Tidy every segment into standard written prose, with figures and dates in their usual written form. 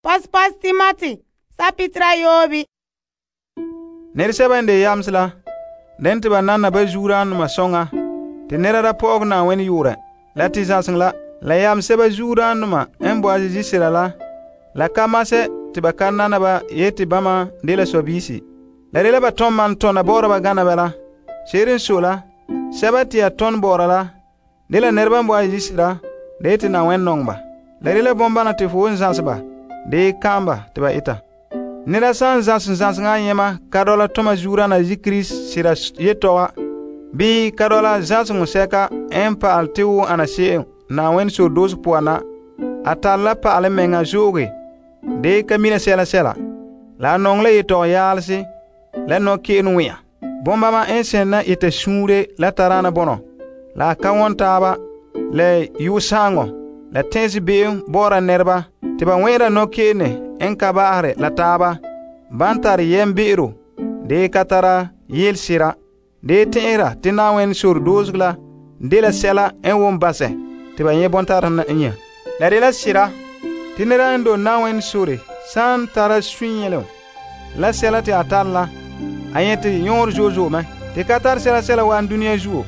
Pas Timoti, sapitra yobi. Nɛresɛba n de yamse la, den te ba nanna ba zuodaanema soŋa, te nɛra da pɔ'ɔgɛ Na'ayenɛ yu'urɛ, la te zãseŋ la. La yamsɛba zuodaanema n boe a zizi sera la ka masɛ te ba ka nana ba yeti bama dela sɔbiisi. La dela ba tom man tɔna bɔ'ɔra ba gana bɛ la. Se'ere n sɔe la, sɛba te ya tɔn bɔ'ɔra la, dela nɛreba n boe a zizi sera, da yeti Na'ayenɛ nɔŋɛ ba. La dela bɔmbana te fo n zãse ba, de kaam ba te ba eta. Nɛra san zãseŋa yɛma ka dɔla toma zuodaana Kirisi sera yetɔga, bii ka dɔla zãseŋɔ sɛka n pa'alɛ te wo ana se'em Na'ayenɛ sɔrɔdoosi poan na, a tare la pa'alɛ mɛŋa zooge, de ka mina sɛla. La a nɔŋɛ la yetɔgɔ yaalese, la nɔke'ene ŋmɛ'ɛra. Bɔmbama n sɛn na ita suunre la taraana bɔnɔ, la a ka wɔn taaba, la yu'usaŋɔ, la tɛn'ɛse be'em bɔ'ɔra nɛreba, te ba wɛn'ɛra nɔke'ene n ka ba'ahare la taaba, ban tare yɛmbe'ero, de ka tara yelesera, de tɛn'ɛra te Na'ayenɛ sɔrɔdoosega la dela sɛla n won basɛ te ba nyɛ bɔntarena n nyɛ. La dela sera te nɛra n dole Na'ayenɛ sore san tara sunyɛlem la sɛla te a tare la, a nyɛ te yɔɔre zo'e mɛ. Te ka tare sɛla wa duniya zuo,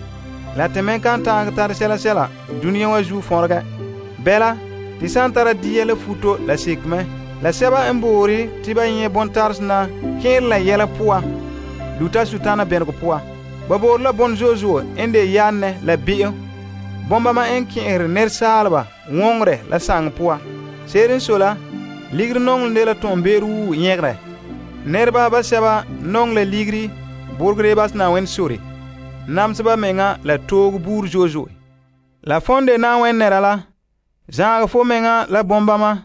la te me kan ta'an tare sɛla duniya wa zuo fɔregɛ. Bɛla, te san tara dia la futo la seke mɛ. La sɛba n boore te ba nyɛ bɔntaresena kẽere la yɛla poan, luta Sutana bɛnegɔ poan. Ba boore la bɔn zo'e n de yanne la be'em. Bɔmbama n kẽ'ɛre nɛresaaleba wɔŋerɛ la saŋe poan. Se'ere n sɔe la, ligiri nɔŋɛ de la tɔnbe'ero wuu nyɛgerɛ. Nɛreba ba sɛba nɔŋɛ la ligiri borogere bas Na'ayenɛ sore, namseba meŋa la toogo buuri zo'e. La fon de Na'ayenɛ nɛra la, zaagɛ fo meŋa la bɔmbama,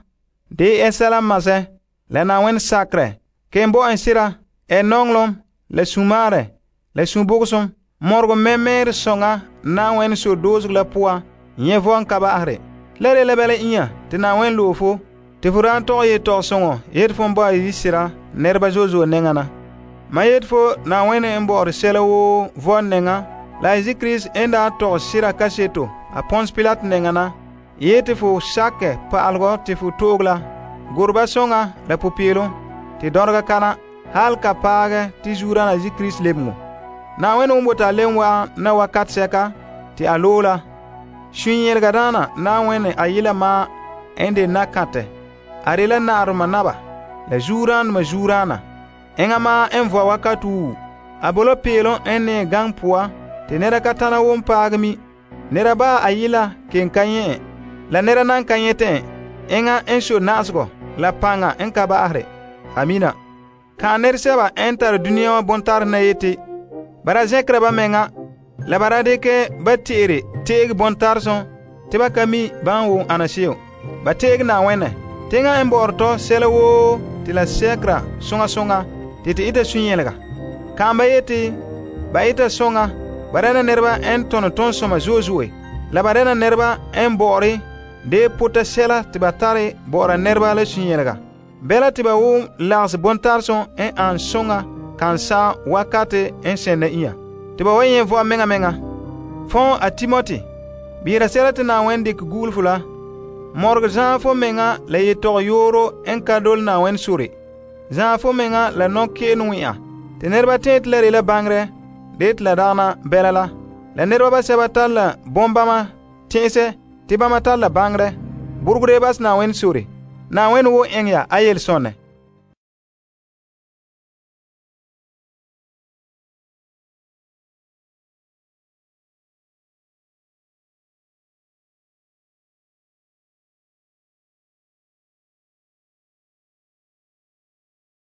de sɛla masɛ, la Na'ayenɛ sakerɛ, ken bo en sera, nɔŋlom, la sumaarɛ, la subogosem, mɔregɔ mɛmɛɛrɛ sɔŋa Na'ayenɛ sɔrɔdoosega la poan, nyɛ vɔn ka ba'ahare. La de la bɛla inya te Na'ayenɛ loe fo, te fo daan tɔgɛ yetɔgɔsɔŋɔ yeti fo n bo a yi sera nɛreba zo'e nɛŋa na. Ma yeti fo Na'ayenɛ n bɔ'ɔre sɛla woo vɔn nɛŋa, la Kirisi n daa tɔgɛ sera kaseto a Pons Pilate nɛŋa na, yeti fo sakɛ pa'alegɔ te fo to'oge la, goreba sɔŋa la popeelom, te dɔrega kana, hal ka paagɛ te zuodaana Kirisi lebeŋo. Na'ayenɛ n bote a lem wa'an na wakat sɛka te a loe la. Sunyɛlega daana Na'ayenɛ a yela maa n de nakantɛ, a de la na'arema naba, la zuodaanema zuodaana. Eŋa maa n vɔa wakat wuu. A bo la peelom n ne gaŋɛ poan, te nɛra ka tana wom paagɛ mi. Nɛra baa a yela ken ka nyɛ, la nɛra nan ka nyɛtɛ eŋa n sɔe na'asegɔ la paŋa n ka ba'ahare. Amina. Kan nɛresɛba n tare duniya wa bɔntarena yeti, bara zɛnkera ba meŋa, la bara dikɛ ba te'ere te'ege bɔntaresem te ba ka mi ban won ana se'em. Ba te'ege Na'ayenɛ. Teŋa n bɔ'ɔre tɔ sɛla woo te la sɛkera soŋa te ita sunyɛlega. Kan ba yeti ba ita soŋa, ba dɛna nɛreba n tɔnɔ tɔnsɔma zo'e, la ba dɛna nɛreba n bɔ'ɔre de pota sɛla te ba tare bɔ'ɔra nɛreba la sunyɛlega. Bɛla te ba wom lagese bɔntaresem n an soŋa kan sa'am wakate n sɛnda inya, te ba wa nyɛ vɔa meŋa. Fɔn a Timoti, biira sɛla te Na'ayenɛ dikɛ gugule fo la, mɔregɛ zãa fo meŋa la yetɔgɔ yooro n ka dole Na'ayenɛ sore, zãa fo meŋa la nɔke'ene ŋmɛ'ɛra, te nɛreba tɛɛ te la de la baŋerɛ, de te la dagana bɛla la. La nɛreba ba sɛba tare la bɔmbama tɛ'ɛsɛ te bama tare la baŋerɛ, borogere bas Na'ayenɛ sore. Na'ayenɛ wo eŋɛ ya a yelesɔnɛ.